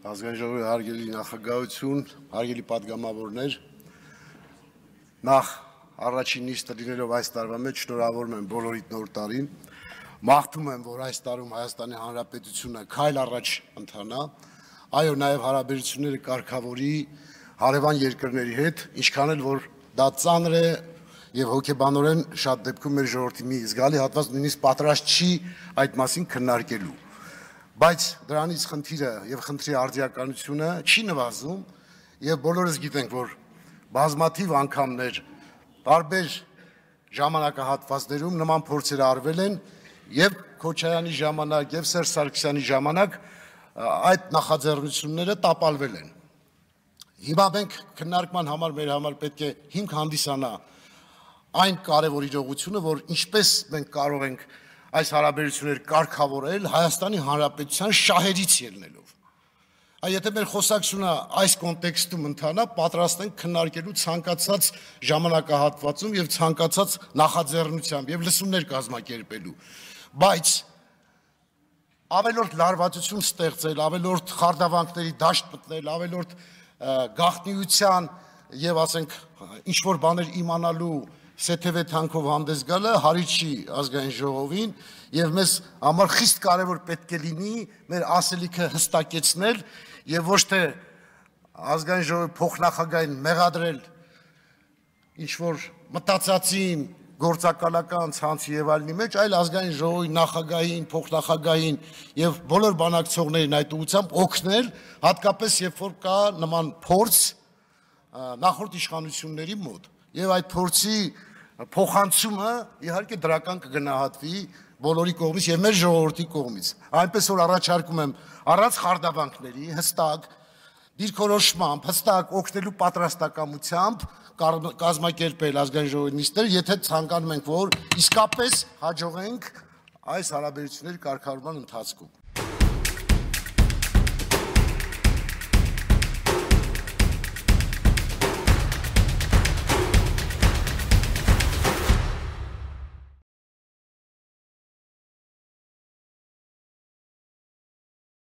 Ազգային ժողովի հարգելի նախագահություն, հարգելի պատգամավորներ, նախ առաջին նիստը լինելով այս տարվա մեջ շնորհավորում եմ բոլորիդ նոր տարին, մաղթում եմ, որ այս տարում Հայաստանի Հանրապետությունը քայլ առաջ ընթանա, այո, նաև հարաբերությունները կարգավորի հարևան երկրների հետ, ինչքան էլ որ դա ծանր է եւ հոգեբանորեն շատ դեպքում մեր ժողովրդի մի զգալի հատված նույնիսկ պատրաստ չի այդ մասին քննարկելու։ Բայց դրանից խնդիրը եւ խնդրի արդիականությունը չի նվազում եւ բոլորս գիտենք, որ բազմաթիվ անգամներ տարբեր ժամանակահատվածներում նման փորձեր արվել են եւ Քոչարյանի ժամանակ եւ Սերժ Սարգսյանի ժամանակ այդ նախաձեռնությունները տապալվել են։ Հիմա մենք քննարկման համար մեր համար պետք է հիմք հանդիսանա այն կարևոր իրողությունը, որ ինչպես մենք կարող ենք այս հարաբերությունները կարգավորել Հայաստանի Հանրապետության շահերից ելնելով։ Եթե մեր խոսակցությունը այս կոնտեքստում ընթանա, պատրաստ ենք քննարկելու ցանկացած ժամանակահատվածում եւ ցանկացած նախաձեռնությամբ եւ լսումներ կազմակերպելու։ Բայց ավելորդ լարվածություն ստեղծել, ավելորդ խարդավանքների դաշտ մտնել, ավելորդ գաղտնիության եւ ասենք ինչ որ բաներ իմանալու սեթեվե թանքով հանդես գալը հարի չի ազգային ժողովին եւ մեզ համար խիստ կարեւոր պետք է լինի մեր ասելիքը հստակեցնել եւ ոչ թե ազգային ժողովի փոխնախագահային մեղադրել ինչ որ մտածածին գործակալական ցանցի եւ այլնի մեջ, այլ ազգային ժողովի նախագահին, փոխնախագահին եւ բոլոր բանակցողներին այդ ուղղությամբ օգնել, հատկապես երբ որ կա նման փորձ նախորդ իշխանությունների մոտ եւ այդ փորձի փոխանցումը իհարկե դրական կգնահատվի բոլորի կողմից եւ մեր ժողովրդի կողմից։ Այնպես որ առաջարկում եմ առանց խարդավանքների հստակ դիրքորոշմամբ, հստակ օգնելու պատրաստակամությամբ կազմակերպել ազգային ժողովի նիստեր, եթե ցանկանում ենք, որ իսկապես հաջողենք այս հարաբերությունների կարգավորման ընթացքում։